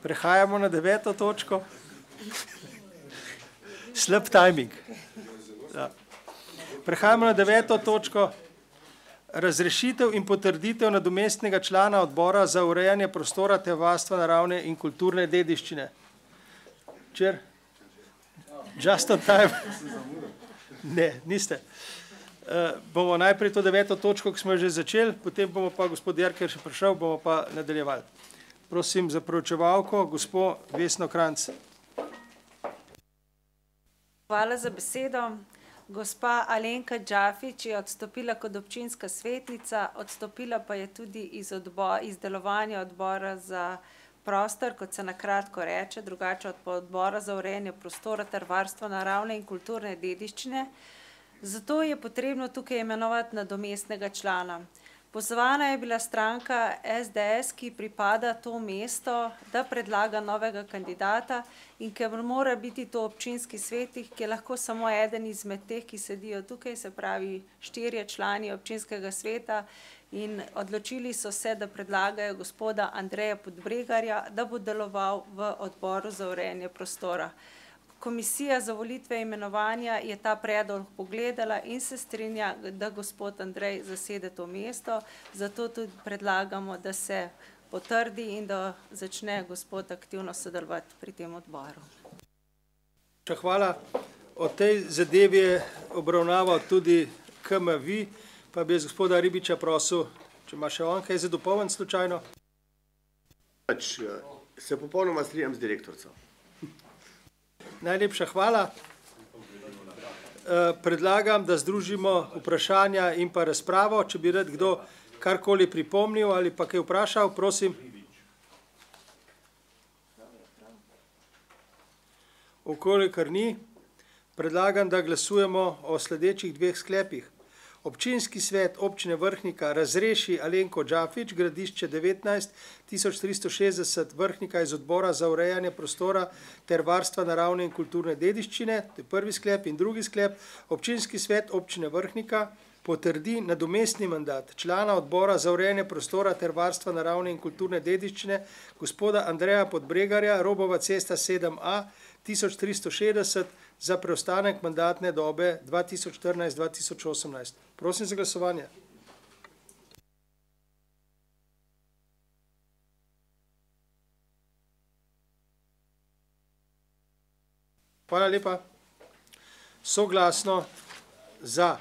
Prehajamo na 9. točko. Slab timing. Ja. Prehajamo na 9. točko. Razrešitev in potrditev nadomestnega člana odbora za urejanje prostora ter varstva naravne in kulturne dediščine. Čer? Just on time. Ne, niste. Bomo najprej to 9. točko, ki smo že začeli, potem bomo pa gospod Jerker še prišel, bomo pa nadaljevali. Prosim za proučevalko, gospod Vesno Kranjc. Hvala za besedo. Gospa Alenka Džafič je odstopila kot občinska svetnica, odstopila pa je tudi iz delovanja odbora za prostor, kot se na kratko reče, drugače od odbora za urejanje prostora ter varstvo naravne in kulturne dediščine. Zato je potrebno tukaj imenovati nadomestnega člana. Pozvana je bila stranka SDS, ki pripada to mesto, da predlaga novega kandidata in ker mora biti to občinski svetnik, ki je lahko samo eden izmed teh, ki sedijo tukaj, se pravi 4 člani občinskega sveta, in odločili so se, da predlagajo gospoda Andreja Podbregarja, da bo deloval v odboru za urejanje prostora. Komisija za volitve imenovanja je ta predlog pogledala in se strinja, da gospod Andrej zasede to mesto, zato tudi predlagamo, da se potrdi in da začne gospod aktivno sodelovati pri tem odboru. Hvala. O tej zadevi je obravnaval tudi KMV, pa bi gospoda Ribiča prosil, če ima še on kaj za dopolniti slučajno. Se popolnoma strinjam z direktorico. Najlepša hvala. Predlagam, da združimo vprašanja in pa razpravo. Če bi rad kdo karkoli pripomnil ali pa kaj vprašal, prosim. Okolikor ni, predlagam, da glasujemo o sledečih 2 sklepih. Občinski svet občine Vrhnika razreši Alenko Džafič, Gradišče 19, 1360 Vrhnika iz odbora za urejanje prostora ter varstva naravne in kulturne dediščine, to je prvi sklep, in drugi sklep. Občinski svet občine Vrhnika potrdi nadomestni mandat člana odbora za urejanje prostora ter varstva naravne in kulturne dediščine gospoda Andreja Podbregarja, Robova cesta 7a, 1360 za preostanek mandatne dobe 2014-2018. Prosim za glasovanje. Hvala lepa. Soglasno za